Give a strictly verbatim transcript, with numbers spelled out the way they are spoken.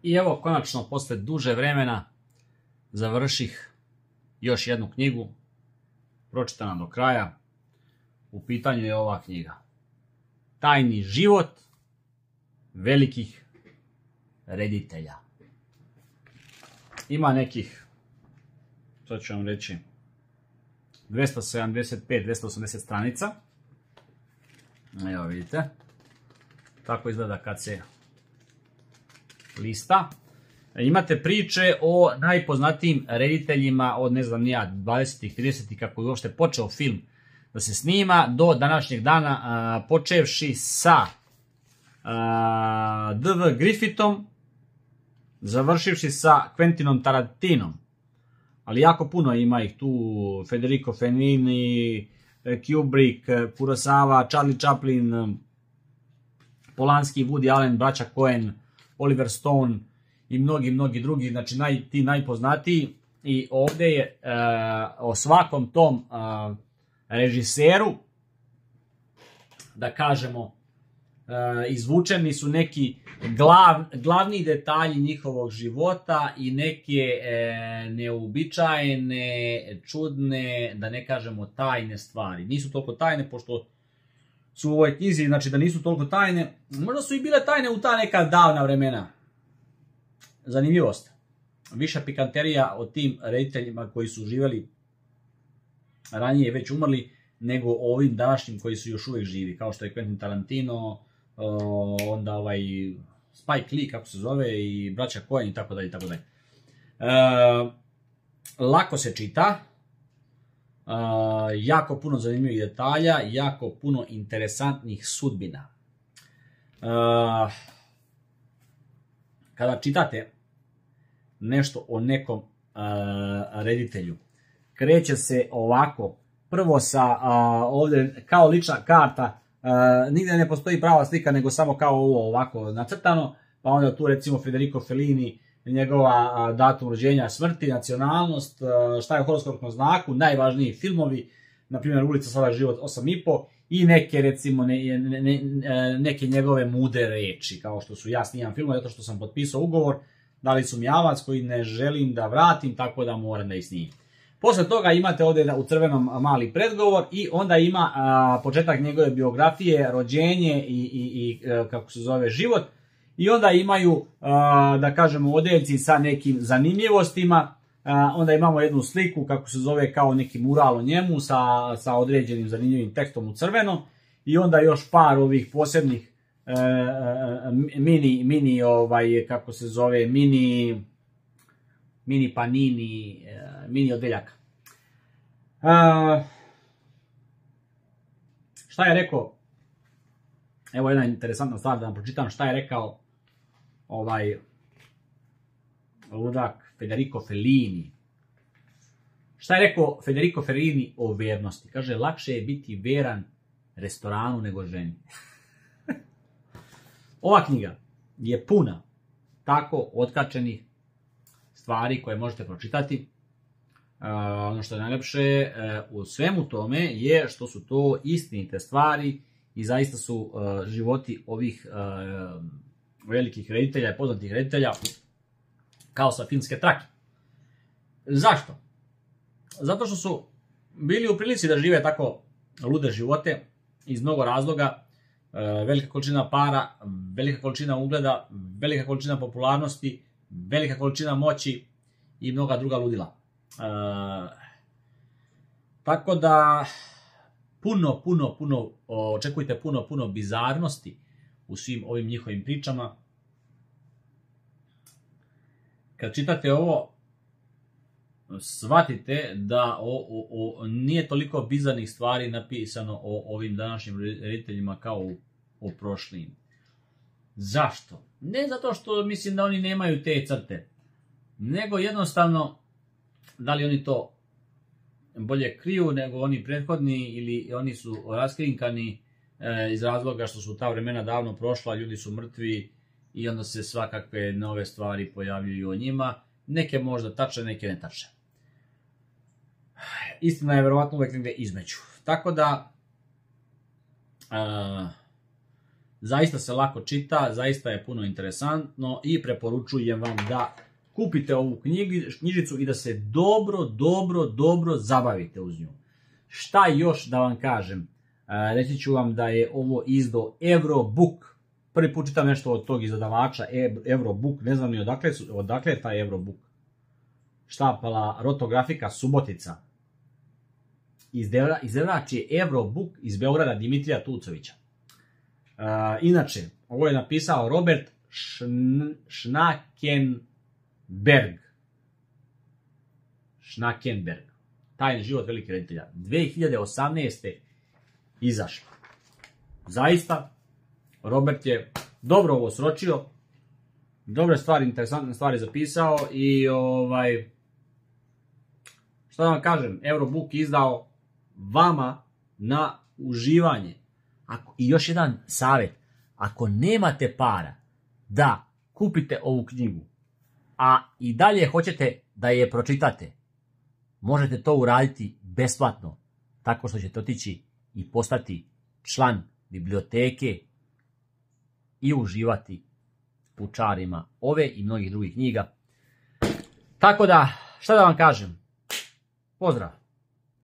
I evo, konačno, posle duže vremena, završih još jednu knjigu, pročitana do kraja. U pitanju je ova knjiga. Tajni život velikih reditelja. Ima nekih, sad ću vam reći, dvesta sedamdeset pet do dvesta osamdeset stranica. Evo vidite. Tako izgleda kad se lista. Imate priče o najpoznatijim rediteljima od, ne znam, nija, dvadesetih, tridesetih, kako je uopšte počeo film da se snima, do današnjeg dana, a, počevši sa a, D V Griffithom, završivši sa Quentinom Tarantinom. Ali jako puno ima ih tu, Federico Fellini, Kubrick, Kurosawa, Charlie Chaplin, Polanski, Woody Allen, braća Coen, Oliver Stone i mnogi, mnogi drugi, znači naj, ti najpoznatiji. I ovde je uh, o svakom tom uh, režiseru, da kažemo, uh, izvučeni su neki glav, glavni detalji njihovog života i neke uh, neobičajene, čudne, da ne kažemo tajne stvari. Nisu toliko tajne, pošto su u ovoj knjizi, znači da nisu toliko tajne. Možda su i bile tajne u ta neka davna vremena. Zanimljivost. Viša pikanterija o tim rediteljima koji su živjeli ranije, već umrli, nego o ovim današnjim koji su još uvijek živi, kao što je Quentin Tarantino, onda ovaj Spike Lee, kako se zove, i braća Coen i tako dalje, tako dalje. Lako se čita, Uh, jako puno zanimljivih detalja, jako puno interesantnih sudbina. Uh, kada čitate nešto o nekom uh, reditelju, kreće se ovako, prvo sa uh, ovdje kao lična karta, uh, nigdje ne postoji prava slika, nego samo kao ovo ovako nacrtano, pa onda tu recimo Federico Fellini, njegova datum rođenja, smrti, nacionalnost, šta je u horoskopnom znaku, najvažniji filmovi, na primjer Ulica slava život osam i po, i neke recimo ne, ne, ne, neke njegove mude reči, kao što su ja snimam filmove, zato što sam potpisao ugovor, dali su mi avac koji ne želim da vratim, tako da moram da ih snimim. Posle toga imate ovdje u crvenom mali predgovor i onda ima a, početak njegove biografije, rođenje i, i, i kako se zove život. I onda imaju, da kažemo, odeljci sa nekim zanimljivostima, onda imamo jednu sliku, kako se zove, kao neki mural o njemu, sa, sa određenim zanimljivim tekstom u crveno, i onda još par ovih posebnih e, mini, mini, ovaj, kako se zove, mini, mini panini, mini odeljaka. E, šta je rekao? Evo jedna interesantna stvar da vam pročitam šta je rekao ovaj ludak Federico Fellini. Šta je rekao Federico Fellini o vernosti? Kaže, lakše je biti veran restoranu nego ženi. Ova knjiga je puna tako otkačenih stvari koje možete pročitati. Uh, ono što je najlepše uh, u svemu tome je što su to istinite stvari i zaista su uh, životi ovih uh, velikih reditelja i poznatih reditelja kao sa filmske trake. Zašto? Zato što su bili u prilici da žive tako lude živote iz mnogo razloga. Uh, velika količina para, velika količina ugleda, velika količina popularnosti, velika količina moći i mnoga druga ludila. Uh, tako da puno, puno, puno, očekujte puno, puno bizarnosti u svim ovim njihovim pričama. Kad čitate ovo, shvatite da o, o, o, nije toliko bizarnih stvari napisano o ovim današnjim rediteljima kao u, o prošlim. Zašto? Ne zato što mislim da oni nemaju te crte, nego jednostavno da li oni to bolje kriju nego oni prethodni ili oni su raskrinkani e, iz razloga što su ta vremena davno prošla, ljudi su mrtvi i onda se svakakve nove stvari pojavljuju o njima. Neke možda tačne, neke ne tačne. Istina je verovatno uvek negde između. Tako da, a, zaista se lako čita, zaista je puno interesantno i preporučujem vam da kupite ovu knjižicu i da se dobro, dobro, dobro zabavite uz nju. Šta još da vam kažem? Reći ću vam da je ovo izdo Eurobook. Prvi put čitam nešto od tog izdavača Eurobook, ne znam ni odakle, odakle je taj Eurobook. Štampala Rotografika Subotica. Izdavač je Eurobook iz Beograda Dimitrija Tucovića. Uh, inače, ovo je napisao Robert Schnakenberg. Schnakenberg. Tajni život velikih reditelja. dve hiljade osamnaeste. izašlo. Zaista, Robert je dobro ovo sročio, dobre stvari, interesantne stvari zapisao i ovaj, šta da vam kažem, Eurobook izdao vama na uživanje. Ako, i još jedan savjet, ako nemate para da kupite ovu knjigu, a i dalje hoćete da je pročitate, možete to uraditi besplatno, tako što ćete otići i postati član biblioteke i uživati u čarima ove i mnogih drugih knjiga. Tako da, šta da vam kažem? Pozdrav!